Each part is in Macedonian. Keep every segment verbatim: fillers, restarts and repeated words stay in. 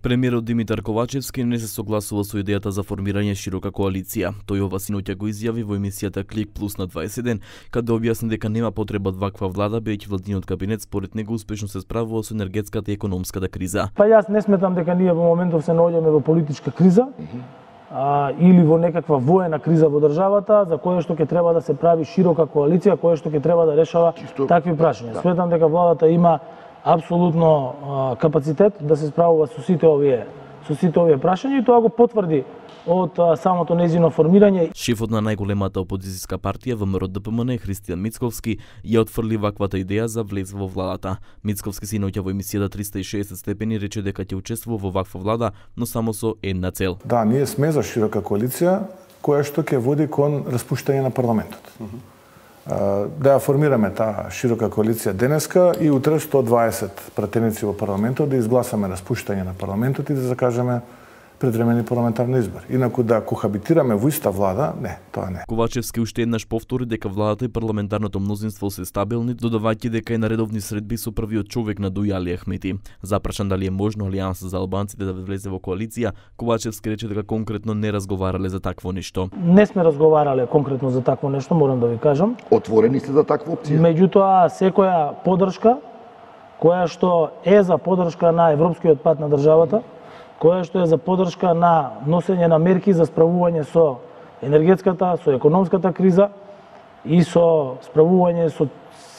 Премиерот Димитар Ковачевски не се согласува со идејата за формирање широка коалиција. Тој ова синоќа го изјави во емисијата Клик Плюс на дваесет и еден, каде објасни дека нема потреба од ваква влада, бидејќи владиниот кабинет според него успешно се справува со енергетската и економската криза. Па јас не сметам дека ние во моментов се наоѓаме во политичка криза, а, или во некаква воена криза во државата, за која што ќе треба да се прави широка коалиција, која што ќе треба да решава Чисто... такви прашања. Да. Сметам дека владата има апсолутно а, капацитет да се справува со сите овие со сите овие прашања и тоа го потврди од а, самото нејзино формирање. Шефот на најголемата опозицијска партија ВМРО Д П М Н Христијан Мицковски ја отфрли ваквата идеја за влез во владата. Мицковски синоќа во емисијата триста и шеесет степени рече дека ќе учествува во ваква влада, но само со една цел. Да, ние сме за широка коалиција која што ќе води кон распуштање на парламентот. Uh -huh. Да ја формираме таа широка коалиција денеска и утре сто дваесет пратеници во парламентот да изгласаме распуштање на парламентот и да закажеме предвремени парламентарни избори. Инаку да кохабитираме во иста влада, не, тоа не. Ковачевски уште еднаш повтори дека владата и парламентарното мнозинство се стабилни, додавајќи дека и на редовни средби со првиот човек на Дуј Али Ахмети. Запрашан дали е можно Алијанса за албанците да влезе во коалиција, Ковачевски рече дека конкретно не разговарале за такво нешто. Не сме разговарале конкретно за такво нешто, морам да ви кажам. Отворени сте за таква опција? Меѓутоа, секоја поддршка која што е за поддршка на европскиот пат на државата, која што е за поддршка на носење на мерки за справување со енергетската, со економската криза и со справување со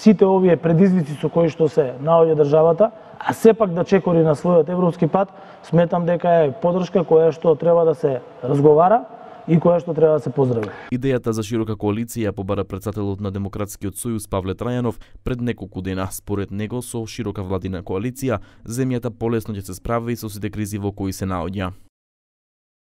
сите овие предизвици со кои што се наоѓа државата, а сепак да чекори на својот европски пат, сметам дека е поддршка која што треба да се разговара и која што треба да се поздрави. Идејата за широка коалиција побара претседателот на Демократскиот сојуз Павле Трајанов пред неколку дена. Според него со широка владина коалиција земјата полесно ќе се справи со сите кризи во кои се наоѓа.